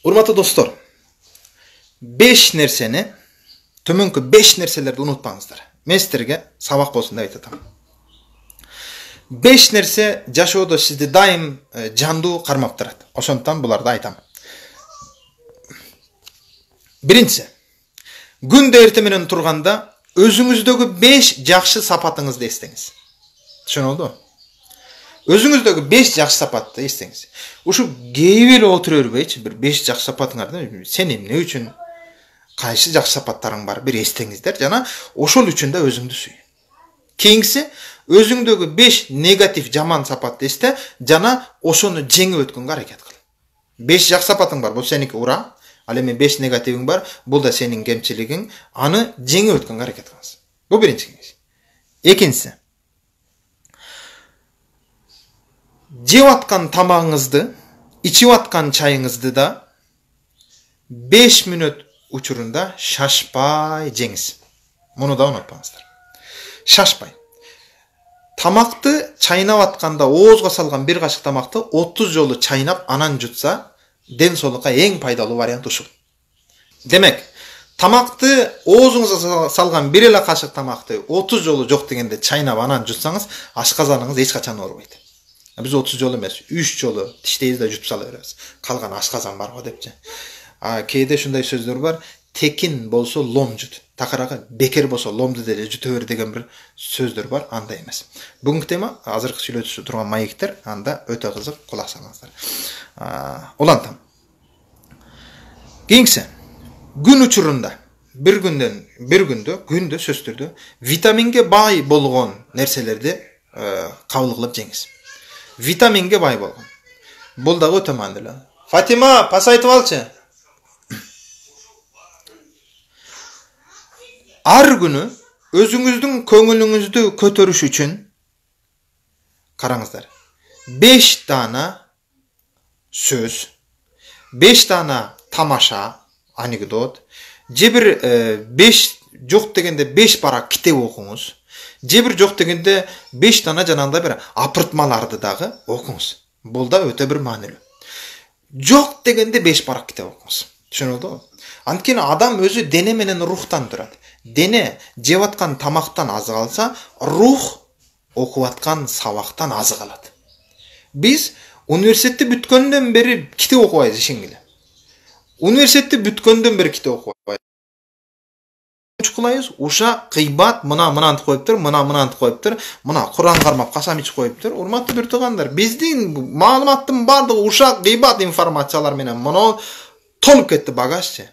Урматтуу достор, 5 нерсени, төмөнкү 5 нерселерди унутпаңыздар. Мен силерге сабак болсун деп айтатам. 5 нерсе жашоодо сизди дайым жандуу кармап турат. Ошондуктан буларды айтам. Биринчиси, күндө эртең менен турганда өзүңүздөгү 5 жакшы сапатыңызды эстеңиз. Түшүнүлдүбү? Өзүңүздөгү 5 жакшы сапатты эстеңиз. Ушу кейип эле отура бербейчи, бир 5 жакшы сапатыңарды сен эмне үчүн, кайсы жакшы сапаттарың бар, бир эстеңиздер жана ошол үчүн да өзүңдү сүй. Кийинкиси, өзүңдөгү 5 негатив жаман сапатты эсте жана ошону жеңип өткөнгө аракет кыл. 5 жакшы сапатың бар, бул сеники, ура. Ал эми 5 негативиң бар, бул да сенин кемчилигиң, аны жеңип өткөнгө аракет кылыңыз. Бул биринчи кеңеш. Экинчиси, жеп аткан тамагыңызды, ичип аткан чайыңызды да 5 мүнөт учурунда шашпай жеңиз. Муну да унутпаңыздар. Шашпай. Тамакты чайнап атканда оозго салган бир кашык тамакты 30 жолу чайнап анан жутса, ден соолукка эң пайдалуу вариант ушул. Демек, тамакты оозуңузга салган бир эле кашык тамакты 30 жолу жок дегенде чайнап анан жутсаңыз, ашказаныңыз эч качан оорубайт. Биз 30 жолу эмес, 3 жолу тиштейбиз да жутуп сала беребиз. Калган ашказан барго депчи. Кээде ушундай сөздөр бар, текин болсо лом жут. Такырага бекер болсо ломду деле жута бер деген бир сөздөр бар, андай эмес. Бүгүнкү тема азыркы сүйлөтүшүп турган маектер, анда өтө кызык, кулак салыңыздар. Улантам. Кийинкиси, күн учурунда бир күндө сөзсүз түрдө витаминге бай болгон нерселерди кабыл кылып жеңиз. Витаминге бай болгон. Бул дагы өтө маанилүү. Фатима, пас айтып алчы. Ар күнү өзүңүздүн көңүлүңүздү көтөрүш үчүн караңыздар. 5 дана сөз, 5 дана тамаша, анекдот, же бир 5 жок дегенде 5 барак китеп окуңуз. Же бир жок дегенде 5 дана жанагындай бир апыртмаларды дагы окуңуз. Бул да өтө бир маанилүү. Жок дегенде 5 барак китеп окуңуз. Түшүнүлдүбү? Анткени адам өзү дене менен рухтан турат. Дене жеп аткан тамактан азык алса, рух окуп аткан сабактан азык алат. Биз университетти бүткөндөн бери китеп окубайбыз ишенгиле. Университетти бүткөндөн бери китеп окубайбыз. Кылайбыз, ушак, кыйбат, мынантып коюптур, мынантып коюптур, мына Куран кармап касам ичип коюптур. Урматтуу бир туугандар, биздин маалыматтын бардыгы ушак, кыйбат информациялар менен моно толуп кетти багажчы.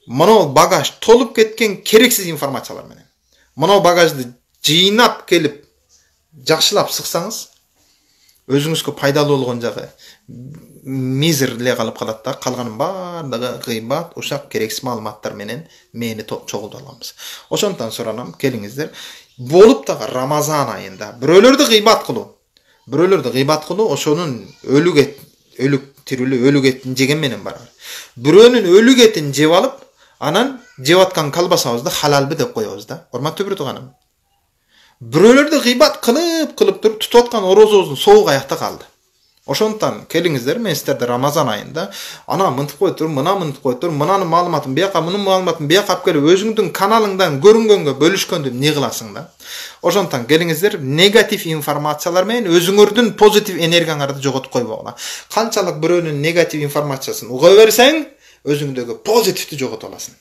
Моно багаж толуп кеткен керексиз информациялар менен. Моно багажды жыйнап келип жакшылап сыксаңыз, өзүңүзгө пайдалуу болгон жагы мизер эле калып калат да, калганын бардыгы кыйбат, ушак, керексиз маалыматтар менен мени чогултуп алганбыз. Ошондон суранам, келиңиздер, болуп дагы Рамазан айында бирөөлөрдү кыйбат кылуу, ошонун өлүк тирүүлү өлүк этин жеген менен барабар. Бирөөнүн өлүк этин жеп алып, анан жеп аткан колбасабызды халалбы деп коебуз да. Урматтуу бир тууганым. Бирөөлөрдү кыйбат кылып туруп тутуп аткан орозобуздун соогу аякта калды. Ошондуктан келиңиздер, мен силерди Рамазан айында ана мынтип коюптур, мына мынтип коюптур, мынанын маалыматын бияка, мунун маалыматын бияка алып келип өзүңдүн каналыңдан көрүнгөнгө бөлүшкөндү эмне кыласың да? Ошондуктан келиңиздер, негатив информациялар менен өзүңөрдүн позитив энергияңарды жоготуп койбогула. Канчалык бирөөнүн негатив информациясын уга берсең, өзүңдөгү позитивди жоготуп аласың.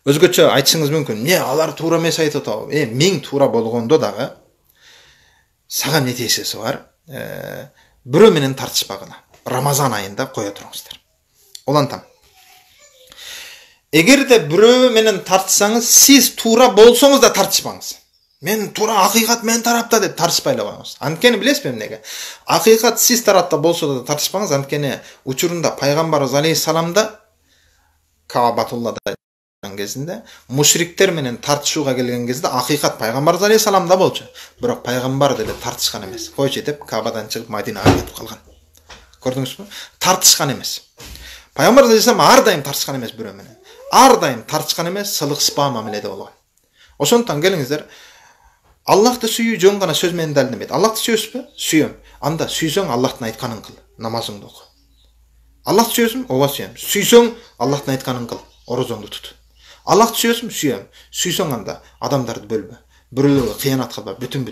Өзгөчө айтышыңыз мүмкүн. Не, алар туура эмес айтып атабы? Миң туура болгондо дагы сага эмне тиешеси бар? Бирөө менен тартышпагыла. Рамазан айында кое туруңуздар. Улантам. Эгерде бирөө менен тартышсаңыз, сиз туура болсоңуз да тартышпаңыз. Мен туура, акыйкат мен тарапта деп тартышпай эле коюңуз. Анткени билесизби эмнеге? Акыйкат сиз тарапта болсо да тартышпаңыз, анткени учурунда пайгамбарыбыз алейхиссаламда Каабатуллада кезинде мушриктер менен тартышууга келген кезде акыйкат пайгамбарыбыз алейхиссаламда болчу. Бирок пайгамбар деле тартышкан эмес. Койчу деп Каабадан чыгып Мадинага кетип калган. Көрдүңүзбү? Тартышкан эмес. Пайгамбарыбыз алейхиссалам ар дайым тартышкан эмес бирөө менен. Ар дайым тартышкан эмес, сылыксыпа мамиледе болгон. Ошондуктан келиңиздер, Аллахты сүйүү жөн гана сөз менен далилденбейт. Аллахты сүйөсүзбү? Сүйөм. Анда сүйсөң Аллахтын айтканын кыл, намазыңды оку. Аллахты сүйөсүң, ооба сүйөм. Сүйсөң, Аллахтын айтканын кыл, орозоңду тут. Аллахты сүйөсүң, сүйөм. Сүйсөң анда адамдарды бөлбө. Бирөөлөргө кыянат кылба, бүтүн.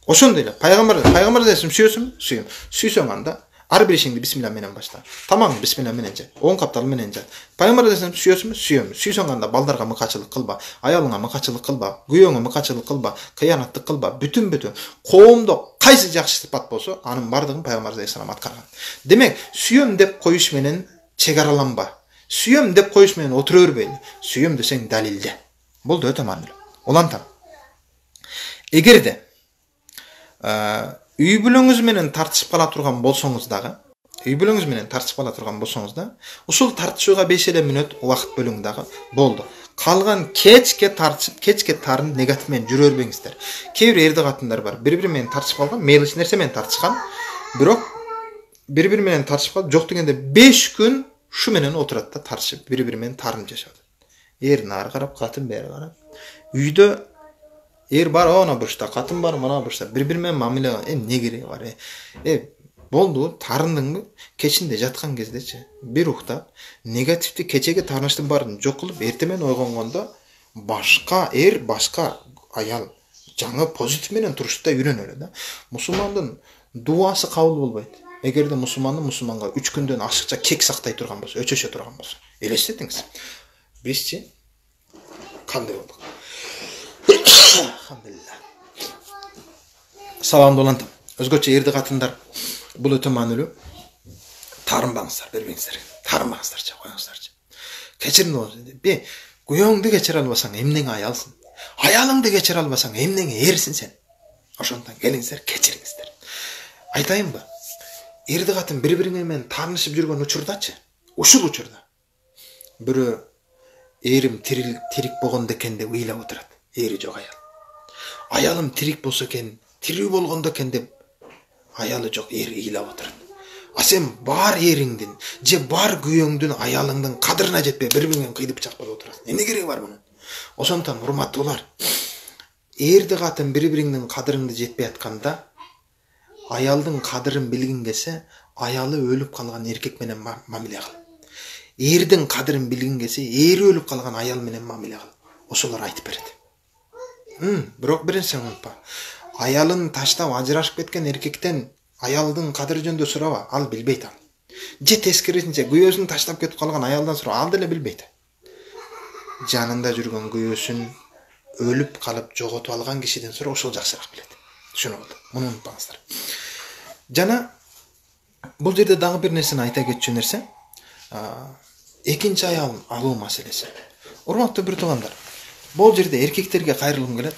Ошондой эле пайгамбар десем сүйөсүң, сүйөм. Сүйсөң анда ар бир ишиңди бисмилла менен башла. Тамагыңды бисмилла менен же, оң каптал менен же. Пайгамбар десем сүйөсүң, сүйөм. Сүйсөң анда балдарга мыкачылык кылба, аялыңа мыкачылык кылба, күйөөңө мыкачылык кылба, кыянаттык кылба, бүтүн. Коомдо кайсы жакшы сыпат болсо, анын бардыгын пайгамбар алейхисалам аткарган. Демек, сүйөм деп коюш менен чек араланба. Сүйөм деп коюш менен отура бербей. Сүйөм десең далилде. Болду, өтө маанилүү. Улантам. Эгерде үй бүлөңүз менен тартышып кала турган болсоңуз дагы, ушул тартышууга 5 мүнөт убакыт бөлүң дагы, болду. Калган кечке тартышып, кечке тарын негатив менен жүрө бербеңиздер. Кээ бир эрди катындар бар, бири-бири менен тартышып калган, мейли нерсе менен тартышкан, бирок бири-бири менен тартышып калып, жок дегенде 5 күн шу менен отурат да тартышып, бири-бири менен тарынып жашап. Эр нары карап, катын бери карап. Үйдө эр бар она бурчта, катын бар мына бурчта, бири-бири менен мамиле эмне кереги бар? Болду, тарындыңбы? Кечинде жаткан кездечи, бир уктап, негативди кечеге таарынычтын баарын жок кылып, эртең менен ойгонгондо башка эр, башка аял жаңы позитив менен турушта үйрөнөлү да. Мусулмандын дуасы кабыл болбойт. Эгерде мусулманга 3 күндөн ашыкча кек сактай турган болсо, өчөшө турган болсо. Элестетиңиз. Бизчи кандай болдук? Алхамдулилlah. Саламды улантам. Өзгөчө эрди катындар, бул өтө маанилүү. Тарынбаңыздар, бербеңиздер. Тарынбаңыздарчы, коюңуздарчы. Кечирим болсун. Күйөөңдү кечире албасаң, эмнеге аялсың? Аялыңды кечире албасаң, эмнеге эрсиң сен? Ошондон келиңиздер, кечириңиздер. Айтайынбы? Эрди катын бири-бири менен таанышып жүргөн учурдачы, ушул учурда бирөө эрим тирик болгондо экен деп ыйлап отурат. Эри жок аял. Аялым тирик болсо экен, тирүү болгондо экен деп аялы жок эри ыйлап отурат. А сен бар эриңдин же бар күйөөңдүн, аялыңдын кадырына жетпей бири-бириңен кыйдып чакпап отурасың. Эмне кереги бар мунун? Ошондон урматтуулар, эрди катын бири-бириңдин кадырыңды жетпей атканда, аялдын кадырын билгиң келсе, аялы өлүп калган эркек менен мамиле кыл. Эрдин кадырын билгиң келсе, эри өлүп калган аял менен мамиле кыл. Ошолор айтып берет. Бирок бир нерсени унутпа. Аялын таштап ажырашып кеткен эркектен аялдын кадыры жөнүндө сураба, ал билбейт ал. Же тескерисинче күйөөсүн таштап кетип калган аялдан сура, ал деле билбейт. Жанында жүргөн күйөөсүн өлүп калып жоготуп алган кишиден сура, ошол жакшыраак билет. Түшүнүп болду. Муну унутпаңыздар. Жана бул жерде дагы бир нерсени айта кетчү нерсе, экинчи аял алуу маселеси. Урматтуу бир туугандар, бул жерде эркектерге кайрылгым келет.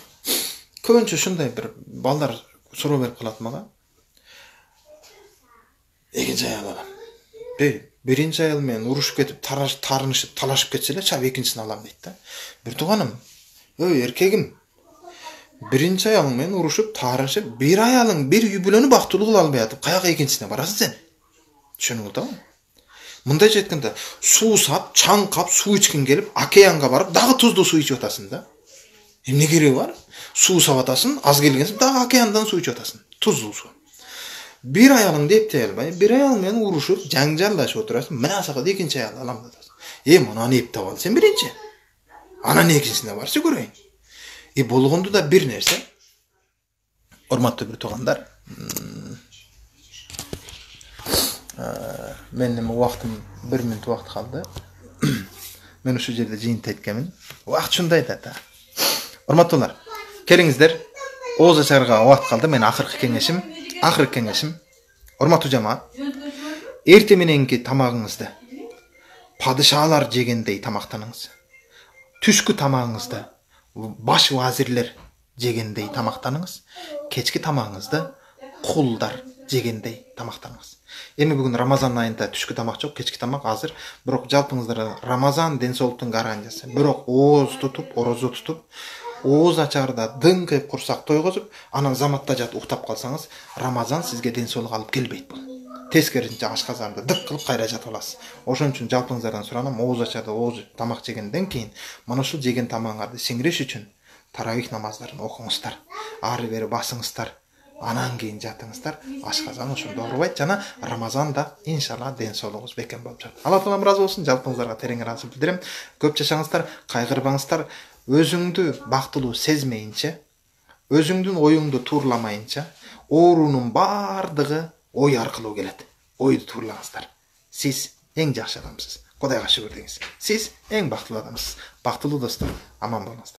Көбүнчө ушундай бир балдар суроо берип калат мага. Экинчи аял алам. Биринчи аял менен урушуп кетип, тарынышып, талашып кетсе эле, чап экинчисин алам дейт да. Бир тууганым, эркегим, биринчи аялың менен урушуп, тарынышып, бир аялың, бир үй бүлөнү бактылуу кыла албай атып, каяка экинчисине барасың сен? Түшүнүп болдуңбу? Мындайча айтканда, суу сап, чаңкап, суу ичкиң келип, океанга барып, дагы туздуу суу ичип атасың да. Эмне кереги бар? Суу сап атасың, аз келгенсиң, дагы океандан суу ичип атасың. Туздуу суу. Бир аялың эптей албай, бир аял менен урушуп, жаңжалдашып отурасың, мына сакалды экинчи аял алам атасың. Мунаны эптеп ал сен биринчи. Анан экинчисине барчы көрөйүн. Болгонду да бир нерсе. Урматтуу бир туугандар, менин убактым 1 мүнөт убакыт калды. Мен ушул жерде жыйынтык айтканмын. Убакыт ушундай да. Урматтуулар, келиңиздер. Ооз ачарга убакыт калды. Мен акыркы кеңешим. Урматтуу жамаат, эрте мененки тамагыңызды падышалар жегендей тамактаныңыз. Түшкү тамагыңызды баш вазирлер жегендей тамактаныңыз. Кечки тамагыңызды кулдар жегендей тамактаныңыз. Эми бүгүн Рамазан айында түшкү тамак жок, кечки тамак азыр. Бирок жалпыңыздар Рамазан ден соолуктун гарантиясы. Бирок ооз тутуп, орозо тутуп, ооз ачарда дыңкыйып курсак тойгозуп, анан заматта жатып уктап калсаңыз, Рамазан сизге ден соолук алып келбейт бул. Тескерисинче ашказанды дык кылып кайра жатып аласыз. Ошон үчүн жалпыңыздардан суранам, ооз ачарда ооз тамак жегенден кийин mana ушул жеген тамагыңарды сиңириш үчүн таравих намаздарын окуңуздар. Ары бери басыңыздар. Анан кийин жатыңыздар. Ашказан ошондо оорубайт жана Рамазанда иншалла ден соолугуңуз бекем болуп жатат. Алла таалам ыраазы болсун. Жалпыңыздарга терең ыраазычылык билдирем. Көп жашаңыздар, кайгырбаңыздар. Өзүңдү бактылуу сезмейинче, өзүңдүн оюңду тууруламайынча, оорунун бардыгы ой аркылуу келет. Ойду туурулагыңыздар. Сиз эң жакшы адамсыз. Кудайга шүгүр деңиз. Сиз эң бактылуу адамсыз. Бактылуу достор, аман болуңуздар.